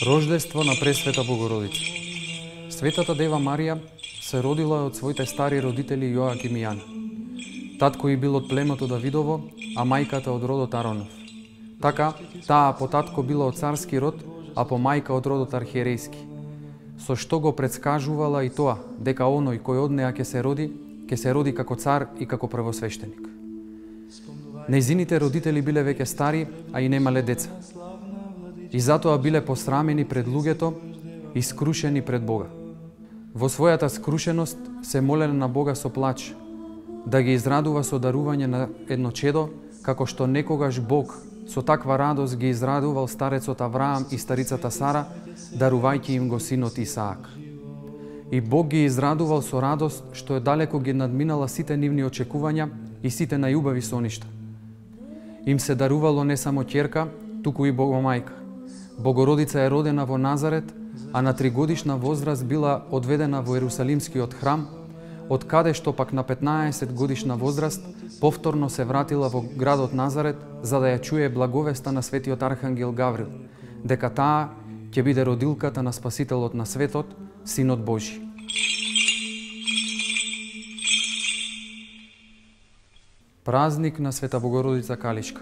Рождество на Пресвета Богородица. Светата Дева Марија се родила од своите стари родители Јоаким и Јана. Татко и бил од племето Давидово, а мајката од родот Аронов. Така, таа по татко била од царски род, а по мајка од родот архиерејски. Со што го предскажувала и тоа, дека оној кој од неа ќе се роди како цар и како првосвештеник. Нејзините родители биле веќе стари, а и немале деца. И затоа биле посрамени пред луѓето и скрушени пред Бога. Во својата скрушеност се молеле на Бога со плач, да ги израдува со дарување на едно чедо, како што некогаш Бог со таква радост ги израдувал старецот Авраам и старицата Сара, дарувајќи им го синот Исаак. И Бог ги израдувал со радост, што далеко ги надминала сите нивни очекувања и сите најубави соништа. Им се дарувало не само ќерка, туку и Богомајка. Богородица е родена во Назарет, а на 3-годишна возраст била одведена во Ерусалимскиот храм, од каде што пак на 15-годишна возраст повторно се вратила во градот Назарет за да ја чуе благовеста на светиот архангел Гаврил, дека таа ќе биде родилката на Спасителот на светот, Синот Божи. Празник на Света Богородица Калишка.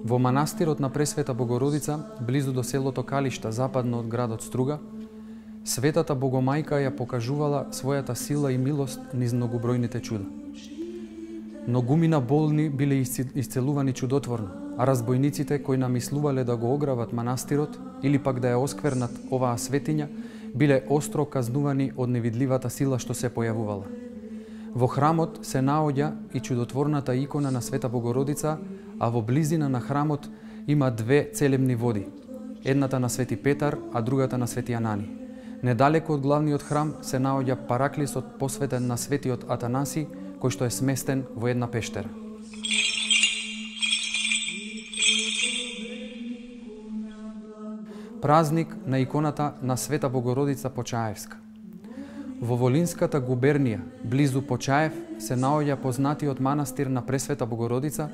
Во манастирот на Пресвета Богородица, близу до селото Калишта, западно од градот Струга, Светата Богомајка ја покажувала својата сила и милост низ многобројните чуда. Многумина болни биле исцелувани чудотворно, а разбойниците кои намислувале да го ограбат манастирот или пак да ја осквернат оваа светиња, биле остро казнувани од невидливата сила што се појавувала. Во храмот се наоѓа и чудотворната икона на Света Богородица, а во близина на храмот има две целебни води, едната на Свети Петар, а другата на Свети Анани. Недалеко од главниот храм се наоѓа параклисот посветен на Светиот Атанаси, кој што е сместен во една пештера. Празник на иконата на Света Богородица Почаевска. Во Волинската губернија, близу Почаев, се наоѓа познатиот манастир на Пресвета Богородица,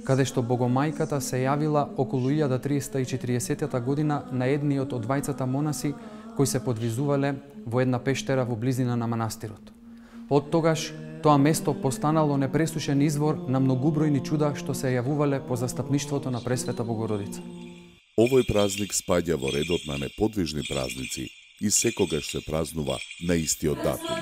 каде што Богомајката се јавила околу 1340 година на едниот од двајцата монаси кои се подвизувале во една пештера во близина на манастирот. Од тогаш, тоа место постанало непресушен извор на многубројни чуда што се јавувале по застапништвото на Пресвета Богородица. Овој празник спаѓа во редот на неподвижни празници и секогаш се празнува на истиот датум.